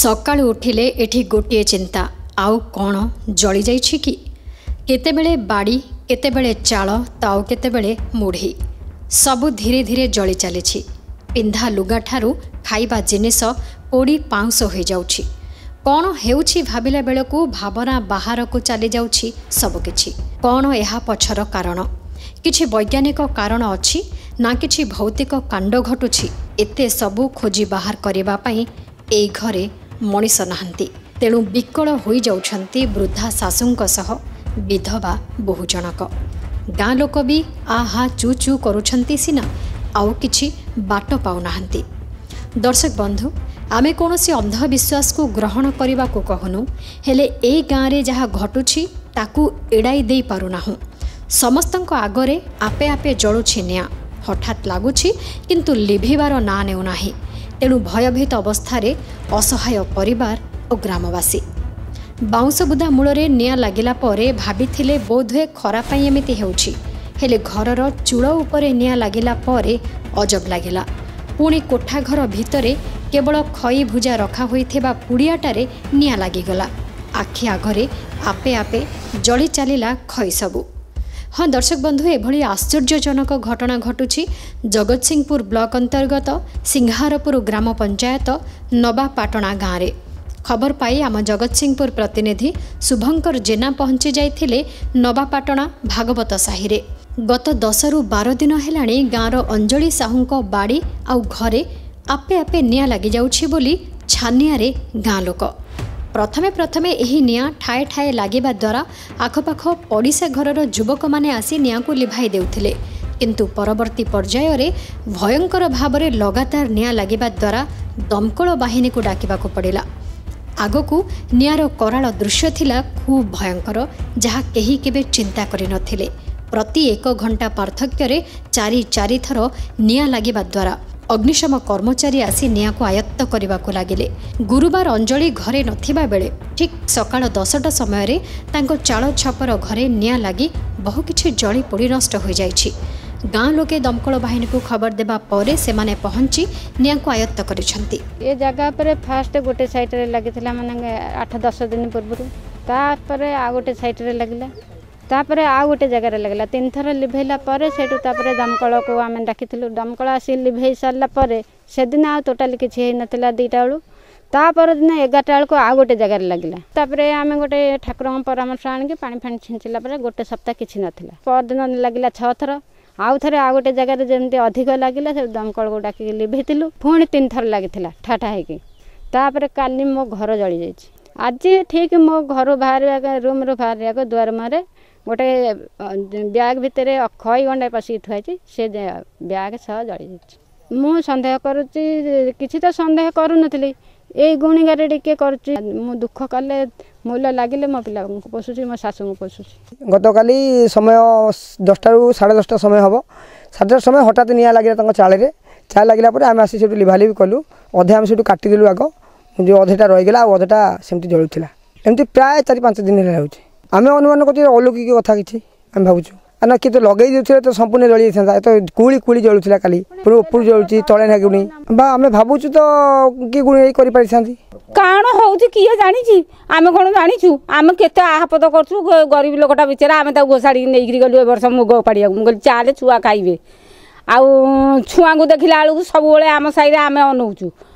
ସକାଳୁ ଉଠିଲେ ଏଠି ଗୋଟିଏ ଚିନ୍ତା, ଆଉ କ'ଣ ଜଳିଯାଇଛି କି? କେତେବେଳେ ବାଡ଼ି, କେତେବେଳେ ଚାଳ ତ ଆଉ କେତେବେଳେ ମୁଢ଼ି, ସବୁ ଧୀରେ ଧୀରେ ଜଳି ଚାଲିଛି। ପିନ୍ଧା ଲୁଗାଠାରୁ ଖାଇବା ଜିନିଷ ପୋଡ଼ି ପାଉଁଶ ହୋଇଯାଉଛି। କ'ଣ ହେଉଛି ଭାବିଲା ବେଳକୁ ଭାବନା ବାହାରକୁ ଚାଲିଯାଉଛି ସବୁକିଛି। କ'ଣ ଏହା ପଛର କାରଣ? କିଛି ବୈଜ୍ଞାନିକ କାରଣ ଅଛି ନା କିଛି ଭୌତିକ କାଣ୍ଡ ଘଟୁଛି? ଏତେ ସବୁ ଖୋଜି ବାହାର କରିବା ପାଇଁ ଏଇ ଘରେ ମଣିଷ ନାହାନ୍ତି। ତେଣୁ ବିକଳ ହୋଇଯାଉଛନ୍ତି ବୃଦ୍ଧା ଶାଶୁଙ୍କ ସହ ବିଧବା ବୋହୂ ଜଣକ। ଗାଁ ଲୋକ ବି ଆହା ଚୁ ଚୁ କରୁଛନ୍ତି ସିନା, ଆଉ କିଛି ବାଟ ପାଉନାହାନ୍ତି। ଦର୍ଶକ ବନ୍ଧୁ, ଆମେ କୌଣସି ଅନ୍ଧବିଶ୍ୱାସକୁ ଗ୍ରହଣ କରିବାକୁ କହୁନୁ, ହେଲେ ଏଇ ଗାଁରେ ଯାହା ଘଟୁଛି ତାକୁ ଏଡ଼ାଇ ଦେଇପାରୁନାହୁଁ। ସମସ୍ତଙ୍କ ଆଗରେ ଆପେ ଆପେ ଜଳୁଛି ନିଆଁ। ହଠାତ୍ ଲାଗୁଛି, କିନ୍ତୁ ଲିଭିବାର ନାଁ ନେଉନାହିଁ। ତେଣୁ ଭୟଭୀତ ଅବସ୍ଥାରେ ଅସହାୟ ପରିବାର ଓ ଗ୍ରାମବାସୀ। ବାଉଁଶ ବୁଦା ମୂଳରେ ନିଆଁ ଲାଗିଲା ପରେ ଭାବିଥିଲେ ବୋଧହୁଏ ଖରା ପାଇଁ ଏମିତି ହେଉଛି। ହେଲେ ଘରର ଚୂଳ ଉପରେ ନିଆଁ ଲାଗିଲା ପରେ ଅଜବ ଲାଗିଲା। ପୁଣି କୋଠା ଘର ଭିତରେ କେବଳ ଖଇ ଭୁଜା ରଖା ହୋଇଥିବା ପୁଡ଼ିଆଟାରେ ନିଆଁ ଲାଗିଗଲା। ଆଖି ଆଗରେ ଆପେ ଆପେ ଜଳି ଚାଲିଲା ଖଇ ସବୁ। ହଁ ଦର୍ଶକ ବନ୍ଧୁ, ଏଭଳି ଆଶ୍ଚର୍ଯ୍ୟଜନକ ଘଟଣା ଘଟୁଛି ଜଗତସିଂହପୁର ବ୍ଲକ ଅନ୍ତର୍ଗତ ସିଂହାରପୁର ଗ୍ରାମ ପଞ୍ଚାୟତ ନବାପାଟଣା ଗାଁରେ। ଖବର ପାଇ ଆମ ଜଗତସିଂହପୁର ପ୍ରତିନିଧି ଶୁଭଙ୍କର ଜେନା ପହଞ୍ଚି ଯାଇଥିଲେ ନବାପାଟଣା ଭାଗବତ ସାହିରେ। ଗତ 10ରୁ 12 ଦିନ ହେଲାଣି ଗାଁର ଅଞ୍ଜଳି ସାହୁଙ୍କ ବାଡ଼ି ଆଉ ଘରେ ଆପେ ଆପେ ନିଆଁ ଲାଗିଯାଉଛି ବୋଲି ଛାନିଆରେ ଗାଁ ଲୋକ। ପ୍ରଥମେ ପ୍ରଥମେ ଏହି ନିଆଁ ଠାଏ ଠାଏ ଲାଗିବା ଦ୍ୱାରା ଆଖପାଖ ପଡ଼ିଶା ଘରର ଯୁବକମାନେ ଆସି ନିଆଁକୁ ଲିଭାଇ ଦେଉଥିଲେ। କିନ୍ତୁ ପରବର୍ତ୍ତୀ ପର୍ଯ୍ୟାୟରେ ଭୟଙ୍କର ଭାବରେ ଲଗାତାର ନିଆଁ ଲାଗିବା ଦ୍ୱାରା ଦମକଳ ବାହିନୀକୁ ଡାକିବାକୁ ପଡ଼ିଲା। ଆଗକୁ ନିଆଁର କରାଳ ଦୃଶ୍ୟ ଥିଲା ଖୁବ୍ ଭୟଙ୍କର, ଯାହା କେହି କେବେ ଚିନ୍ତା କରିନଥିଲେ। ପ୍ରତି ଏକ ଘଣ୍ଟା ପାର୍ଥକ୍ୟରେ ଚାରି ଚାରିଥର ନିଆଁ ଲାଗିବା ଦ୍ୱାରା ଅଗ୍ନିଶମ କର୍ମଚାରୀ ଆସି ନିଆଁକୁ ଆୟତ୍ତ କରିବାକୁ ଲାଗିଲେ। ଗୁରୁବାର ଅଞ୍ଜଳି ଘରେ ନଥିବା ବେଳେ ଠିକ୍ ସକାଳ 10ଟା ସମୟରେ ତାଙ୍କ ଚାଳ ଛପର ଘରେ ନିଆଁ ଲାଗି ବହୁ କିଛି ଜଳି ପୋଡ଼ି ନଷ୍ଟ ହୋଇଯାଇଛି। ଗାଁ ଲୋକେ ଦମକଳ ବାହିନୀକୁ ଖବର ଦେବା ପରେ ସେମାନେ ପହଞ୍ଚି ନିଆଁକୁ ଆୟତ୍ତ କରିଛନ୍ତି। ଏ ଜାଗା ଉପରେ ଫାଷ୍ଟ ଗୋଟେ ସାଇଡ଼ରେ ଲାଗିଥିଲା, ମାନେ 8 10 ଦିନ ପୂର୍ବରୁ। ତାପରେ ଆଉ ଗୋଟେ ସାଇଡ଼ରେ ଲାଗିଲା, ତାପରେ ଆଉ ଗୋଟେ ଜାଗାରେ ଲାଗିଲା। ତିନିଥର ଲିଭେଇଲା ପରେ ସେଇଠୁ ତାପରେ ଦମକଳକୁ ଆମେ ଡାକିଥିଲୁ। ଦମକଳ ଆସି ଲିଭେଇ ସାରିଲା ପରେ ସେଦିନ ଆଉ ଟୋଟାଲି କିଛି ହେଇନଥିଲା 2ଟା ବେଳୁ। ତା ପରଦିନ 11ଟା ବେଳକୁ ଆଉ ଗୋଟେ ଜାଗାରେ ଲାଗିଲା। ତାପରେ ଆମେ ଗୋଟେ ଠାକୁରଙ୍କ ପରାମର୍ଶ ଆଣିକି ପାଣି ଫାଣି ଛିଞ୍ଚିଲା ପରେ ଗୋଟେ ସପ୍ତାହ କିଛି ନଥିଲା। ପରଦିନ ଲାଗିଲା 6 ଥର। ଆଉ ଥରେ ଆଉ ଗୋଟେ ଜାଗାରେ ଯେମିତି ଅଧିକ ଲାଗିଲା, ସେ ଦମକଳକୁ ଡାକିକି ଲିଭେଇଥିଲୁ। ପୁଣି 3 ଥର ଲାଗିଥିଲା ଠା ଠା ହେଇକି। ତାପରେ କାଲି ମୋ ଘର ଜଳିଯାଇଛି। ଆଜି ଠିକ୍ ମୋ ଘରୁ ବାହାରିବା, ରୁମ୍ରୁ ବାହାରିବାକୁ ଦୁଆର ମୁହଁରେ ଗୋଟେ ବ୍ୟାଗ୍ ଭିତରେ ଖଇ ଗଣ୍ଡାଏ ପଶିକି ଥୁଆ ହେଇଛି, ସେ ବ୍ୟାଗ୍ ସହ ଜଳିଯାଇଛି। ମୁଁ ସନ୍ଦେହ କରୁଛି, କିଛି ତ ସନ୍ଦେହ କରୁନଥିଲି, ଏଇ ଗୁଣିଗାରେଡ଼ି ଟିକେ କରୁଛି। ମୁଁ ଦୁଃଖ କଲେ ମୂଲ ଲାଗିଲେ ମୋ ପିଲାଙ୍କୁ ପୋଷୁଛି, ମୋ ଶାଶୁଙ୍କୁ ପୋଷୁଛି। ଗତକାଲି ସମୟ 10ଟାରୁ 10:30 ସମୟ ହେବ। 10:30 ସମୟ ହଠାତ୍ ନିଆଁ ଲାଗିଲା ତାଙ୍କ ଚାଳରେ। ଚାଳ ଲାଗିଲା ପରେ ଆମେ ଆସି ସେଠୁ ଲିଭାଲିଭି କଲୁ। ଅଧେ ଆମେ ସେଠୁ କାଟିଦେଲୁ ଆଗ, ଯେଉଁ ଅଧେଟା ରହିଗଲା, ଆଉ ଅଧେଟା ସେମିତି ଜଳୁଥିଲା। ଏମିତି ପ୍ରାୟ 4 5 ଦିନ ହେଲା ହେଉଛି। ଆମେ ଅନୁମାନ କରୁଛୁ ଅଲୌକିକ କଥା କିଛି ଆମେ ଭାବୁଛୁ ନା କିଏ ତ ଲଗେଇ ଦେଉଥିଲେ ତ ସମ୍ପୂର୍ଣ୍ଣ ଜଳି ଯାଇଥାନ୍ତା। ଏ ତ କୁଳି କୁଳି ଜଳୁଥିଲା କାଲି, ପୁଣି ଉପରୁ ଜଳୁଛି, ତଳେ ଲାଗୁନି। ବା ଆମେ ଭାବୁଛୁ ତ କିଏ ଗୁଣି କରିପାରିଥାନ୍ତି। କାଣ ହଉଛି କିଏ ଜାଣିଛି? ଆମେ କ'ଣ ଜାଣିଛୁ? ଆମେ କେତେ ଆହାପଦ କରୁଛୁ। ଗରିବ ଲୋକଟା ବିଚାରା, ଆମେ ତାକୁ ଘୋଷାଡ଼ିକି ନେଇକିରି ଗଲୁ ଏ ବର୍ଷ ମୁଗ ଉପାଡ଼ିବାକୁ। ମୁଁ କହିଲି ଚାଲେ, ଛୁଆ ଖାଇବେ। ଆଉ ଛୁଆଙ୍କୁ ଦେଖିଲା ବେଳକୁ ସବୁବେଳେ ଆମ ସାହିରେ ଆମେ ଅନଉଛୁ।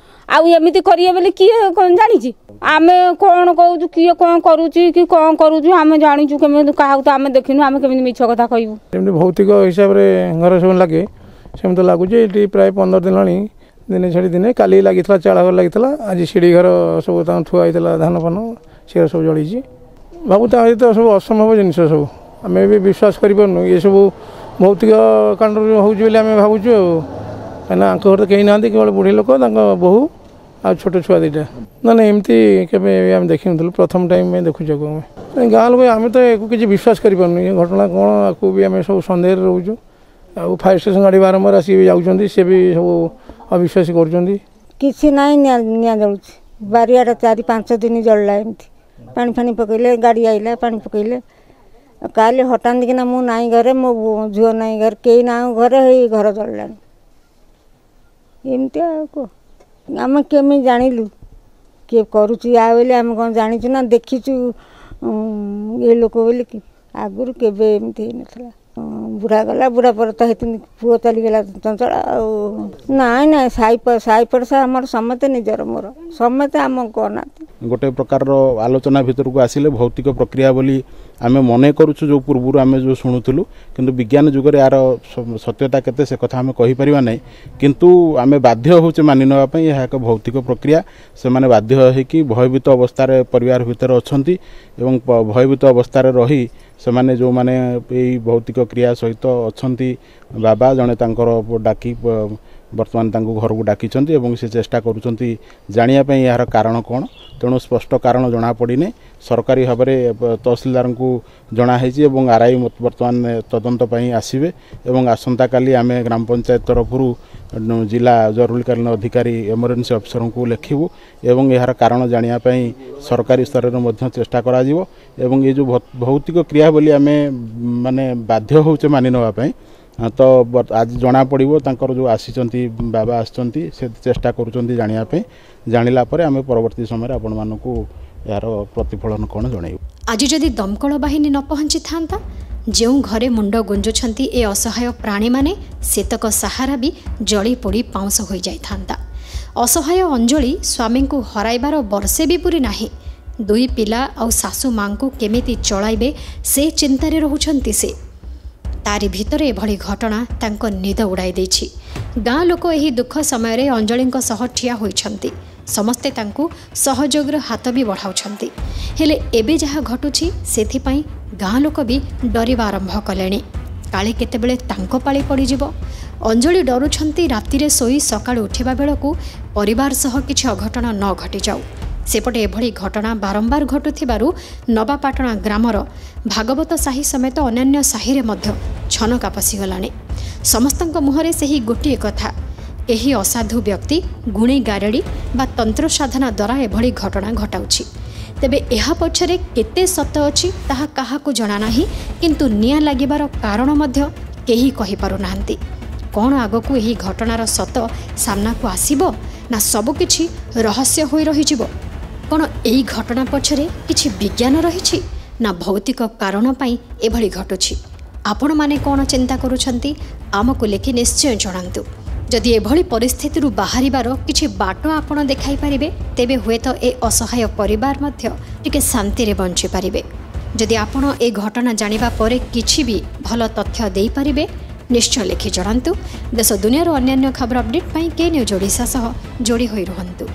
ଆଉ ଏମିତି କରିବେ ବୋଲି କିଏ ଜାଣିଛି? ଆମେ କ'ଣ କହୁଛୁ, କିଏ କ'ଣ କରୁଛି କି କ'ଣ କରୁଛୁ ଆମେ ଜାଣିଛୁ କେମିତି? କାହାକୁ ତ ଆମେ ଦେଖିନୁ, ଆମେ କେମିତି ମିଛ କଥା କହିବୁ? ଯେମିତି ଭୌତିକ ହିସାବରେ ଘରେ ସବୁ ଲାଗେ, ସେମିତି ଲାଗୁଛି ଏଠି। ପ୍ରାୟ 15 ଦିନ ହେଲାଣି, ଦିନେ ଛାଡ଼ି ଦିନେ। କାଲି ଲାଗିଥିଲା, ଚାଳ ଘର ଲାଗିଥିଲା। ଆଜି ସିଢ଼ି ଘର ସବୁ ତାଙ୍କ ଥୁଆ ହେଇଥିଲା ଧାନ ଫାନ, ସେ ସବୁ ଜଳିଛି। ଭାବୁ ତା ତ ସବୁ ଅସମ୍ଭବ ଜିନିଷ ସବୁ, ଆମେ ବି ବିଶ୍ୱାସ କରିପାରୁନୁ। ଏସବୁ ଭୌତିକ କାଣ୍ଡରୁ ହେଉଛି ବୋଲି ଆମେ ଭାବୁଛୁ। ଆଉ କାହିଁକିନା ଆଙ୍କ ଘରେ ତ କେହି ନାହାନ୍ତି, କେବଳ ବୁଢ଼ୀ ଲୋକ, ତାଙ୍କ ବୋହୂ ଆଉ ଛୋଟ ଛୁଆ 2ଟା। ନା ନା, ଏମିତି କେବେ ଆମେ ଦେଖିନଥିଲୁ, ପ୍ରଥମ ଟାଇମ୍ ଦେଖୁଛୁ ଆକୁ। ଆମେ ଗାଁ ଲୋକ, ଆମେ ତ ଏକୁ କିଛି ବିଶ୍ୱାସ କରିପାରୁନୁ। ଏ ଘଟଣା କ'ଣ, ଆକୁ ବି ଆମେ ସବୁ ସନ୍ଦେହରେ ରହୁଛୁ। ଆଉ ଫାୟାର ଷ୍ଟେସନ୍ ଗାଡ଼ି ବାରମ୍ବାର ଆସିକି ଯାଉଛନ୍ତି, ସେ ବି ସବୁ ଅବିଶ୍ୱାସ କରୁଛନ୍ତି। କିଛି ନାହିଁ, ନିଆଁ ନିଆଁ ଜଳୁଛି ବାରିଆଡ଼େ। 4 5 ଦିନ ଜଳିଲା ଏମିତି। ପାଣି ଫାଣି ପକେଇଲେ, ଗାଡ଼ି ଆଇଲା, ପାଣି ପକେଇଲେ। କାଲି ହଠାତ୍ କିନା ମୁଁ ନାଇଁ ଘରେ, ମୋ ଝିଅ ନାଇଁ ଘରେ, କେହି ନାହୁଁ ଘରେ, ହେଇ ଘର ଜଳିଲାଣି ଏମିତି। ଆଉ କୁହ, ଆମେ କେମିତି ଜାଣିଲୁ? କିଏ କରୁଛି ଆ ବୋଲି ଆମେ କ'ଣ ଜାଣିଛୁ ନା ଦେଖିଛୁ ଏ ଲୋକ ବୋଲି। ଆଗରୁ କେବେ ଏମିତି ହେଇନଥିଲା। ବୁଢ଼ା ଗଲା, ବୁଢ଼ା ପରେ ତ ହେଇଛନ୍ତି ପୁଅ ଚାଲିଗଲା ଚଞ୍ଚଳ। ଆଉ ନାଇଁ ନାଇଁ, ସାହି ସାହି ପଡ଼ିଶା ଆମର ସମସ୍ତେ ନିଜର, ମୋର ସମସ୍ତେ ଆମକୁ ଅନାନ୍ତି। ଗୋଟେ ପ୍ରକାରର ଆଲୋଚନା ଭିତରକୁ ଆସିଲେ ଭୌତିକ ପ୍ରକ୍ରିୟା ବୋଲି ଆମେ ମନେ କରୁଛୁ, ଯେଉଁ ପୂର୍ବରୁ ଆମେ ଯେଉଁ ଶୁଣୁଥିଲୁ। କିନ୍ତୁ ବିଜ୍ଞାନ ଯୁଗରେ ଏହାର ସତ୍ୟତା କେତେ ସେ କଥା ଆମେ କହିପାରିବା ନାହିଁ, କିନ୍ତୁ ଆମେ ବାଧ୍ୟ ହେଉଛେ ମାନି ନେବା ପାଇଁ ଏହା ଏକ ଭୌତିକ ପ୍ରକ୍ରିୟା। ସେମାନେ ବାଧ୍ୟ ହେଇକି ଭୟଭୀତ ଅବସ୍ଥାରେ ପରିବାର ଭିତରେ ଅଛନ୍ତି ଏବଂ ଭୟଭୀତ ଅବସ୍ଥାରେ ରହି ସେମାନେ ଯେଉଁମାନେ ଏଇ ଭୌତିକ କ୍ରିୟା ସହିତ ଅଛନ୍ତି, ବାବା ଜଣେ ତାଙ୍କର ଡାକି ବର୍ତ୍ତମାନ ତାଙ୍କୁ ଘରକୁ ଡାକିଛନ୍ତି ଏବଂ ସେ ଚେଷ୍ଟା କରୁଛନ୍ତି ଜାଣିବା ପାଇଁ ଏହାର କାରଣ କ'ଣ। ତେଣୁ ସ୍ପଷ୍ଟ କାରଣ ଜଣାପଡ଼ିନି। ସରକାରୀ ଭାବରେ ତହସିଲଦାରଙ୍କୁ ଜଣାହେଇଛି ଏବଂ ଆର୍ I ବର୍ତ୍ତମାନ ତଦନ୍ତ ପାଇଁ ଆସିବେ ଏବଂ ଆସନ୍ତାକାଲି ଆମେ ଗ୍ରାମ ପଞ୍ଚାୟତ ତରଫରୁ ଜିଲ୍ଲା ଜରୁରୀକାଳୀନ ଅଧିକାରୀ ଏମର୍ଜେନ୍ସି ଅଫିସରଙ୍କୁ ଲେଖିବୁ ଏବଂ ଏହାର କାରଣ ଜାଣିବା ପାଇଁ ସରକାରୀ ସ୍ତରରେ ମଧ୍ୟ ଚେଷ୍ଟା କରାଯିବ। ଏବଂ ଏ ଯେଉଁ ଭୌତିକ କ୍ରିୟା ବୋଲି ଆମେ ମାନେ ବାଧ୍ୟ ହେଉଛେ ମାନି ନେବା ପାଇଁ, ତ ଆଜି ଜଣାପଡ଼ିବ। ତାଙ୍କର ଯେଉଁ ଆସିଛନ୍ତି ବାବା ଆସିଛନ୍ତି, ସେ ଚେଷ୍ଟା କରୁଛନ୍ତି ଜାଣିବା ପାଇଁ। ଜାଣିଲା ପରେ ଆମେ ପରବର୍ତ୍ତୀ ସମୟରେ ଆପଣମାନଙ୍କୁ ଏହାର ପ୍ରତିଫଳନ କ'ଣ ଜଣାଇବୁ। ଆଜି ଯଦି ଦମକଳ ବାହିନୀ ନ ପହଞ୍ଚିଥାନ୍ତା, ଯେଉଁ ଘରେ ମୁଣ୍ଡ ଗୁଞ୍ଜୁଛନ୍ତି ଏ ଅସହାୟ ପ୍ରାଣୀମାନେ, ସେତକ ସାହାରା ବି ଜଳି ପୋଡ଼ି ପାଉଁଶ ହୋଇଯାଇଥାନ୍ତା। ଅସହାୟ ଅଞ୍ଜଳି ସ୍ୱାମୀଙ୍କୁ ହରାଇବାର ବର୍ଷେ ବି ପୁରୀ ନାହିଁ। ଦୁଇ ପିଲା ଆଉ ଶାଶୁ ମାଙ୍କୁ କେମିତି ଚଳାଇବେ ସେ ଚିନ୍ତାରେ ରହୁଛନ୍ତି ସେ। ତାରି ଭିତରେ ଏଭଳି ଘଟଣା ତାଙ୍କ ନିଦ ଉଡ଼ାଇ ଦେଇଛି। ଗାଁ ଲୋକ ଏହି ଦୁଃଖ ସମୟରେ ଅଞ୍ଜଳିଙ୍କ ସହ ଠିଆ ହୋଇଛନ୍ତି। ସମସ୍ତେ ତାଙ୍କୁ ସହଯୋଗର ହାତ ବି ବଢ଼ାଉଛନ୍ତି। ହେଲେ ଏବେ ଯାହା ଘଟୁଛି ସେଥିପାଇଁ ଗାଁ ଲୋକ ବି ଡରିବା ଆରମ୍ଭ କଲେଣି, କାଳେ କେତେବେଳେ ତାଙ୍କ ପାଳି ପଡ଼ିଯିବ। ଅଞ୍ଜଳି ଡରୁଛନ୍ତି ରାତିରେ ଶୋଇ ସକାଳୁ ଉଠିବା ବେଳକୁ ପରିବାର ସହ କିଛି ଅଘଟଣ ନ ଘଟିଯାଉ। ସେପଟେ ଏଭଳି ଘଟଣା ବାରମ୍ବାର ଘଟୁଥିବାରୁ ନବାପାଟଣା ଗ୍ରାମର ଭାଗବତ ସାହି ସମେତ ଅନ୍ୟାନ୍ୟ ସାହିରେ ମଧ୍ୟ ଛନକା ପଶିଗଲାଣି। ସମସ୍ତଙ୍କ ମୁହଁରେ ସେହି ଗୋଟିଏ କଥା, କେହି ଅସାଧୁ ବ୍ୟକ୍ତି ଗୁଣି ଗାରେଡ଼ି ବା ତନ୍ତ୍ର ସାଧନା ଦ୍ୱାରା ଏଭଳି ଘଟଣା ଘଟାଉଛି। ତେବେ ଏହା ପଛରେ କେତେ ସତ ଅଛି ତାହା କାହାକୁ ଜଣା ନାହିଁ, କିନ୍ତୁ ନିଆଁ ଲାଗିବାର କାରଣ ମଧ୍ୟ କେହି କହିପାରୁନାହାନ୍ତି। କ'ଣ ଆଗକୁ ଏହି ଘଟଣାର ସତ ସାମ୍ନାକୁ ଆସିବ ନା ସବୁକିଛି ରହସ୍ୟ ହୋଇ ରହିଯିବ? କ'ଣ ଏହି ଘଟଣା ପଛରେ କିଛି ବିଜ୍ଞାନ ରହିଛି ନା ଭୌତିକ କାରଣ ପାଇଁ ଏଭଳି ଘଟୁଛି? ଆପଣମାନେ କ'ଣ ଚିନ୍ତା କରୁଛନ୍ତି ଆମକୁ ଲେଖି ନିଶ୍ଚୟ ଜଣାନ୍ତୁ। ଯଦି ଏଭଳି ପରିସ୍ଥିତିରୁ ବାହାରିବାର କିଛି ବାଟ ଆପଣ ଦେଖାଇ ପାରିବେ, ତେବେ ହୁଏତ ଏ ଅସହାୟ ପରିବାର ମଧ୍ୟ ଟିକେ ଶାନ୍ତିରେ ବଞ୍ଚିପାରିବେ। ଯଦି ଆପଣ ଏ ଘଟଣା ଜାଣିବା ପରେ କିଛି ବି ଭଲ ତଥ୍ୟ ଦେଇପାରିବେ, ନିଶ୍ଚୟ ଲେଖି ଜଣାନ୍ତୁ। ଦେଶ ଦୁନିଆର ଅନ୍ୟାନ୍ୟ ଖବର ଅପଡେଟ୍ ପାଇଁ କେ ନ୍ୟୁଜ୍ ଓଡ଼ିଶା ସହ ଯୋଡ଼ି ହୋଇ ରୁହନ୍ତୁ।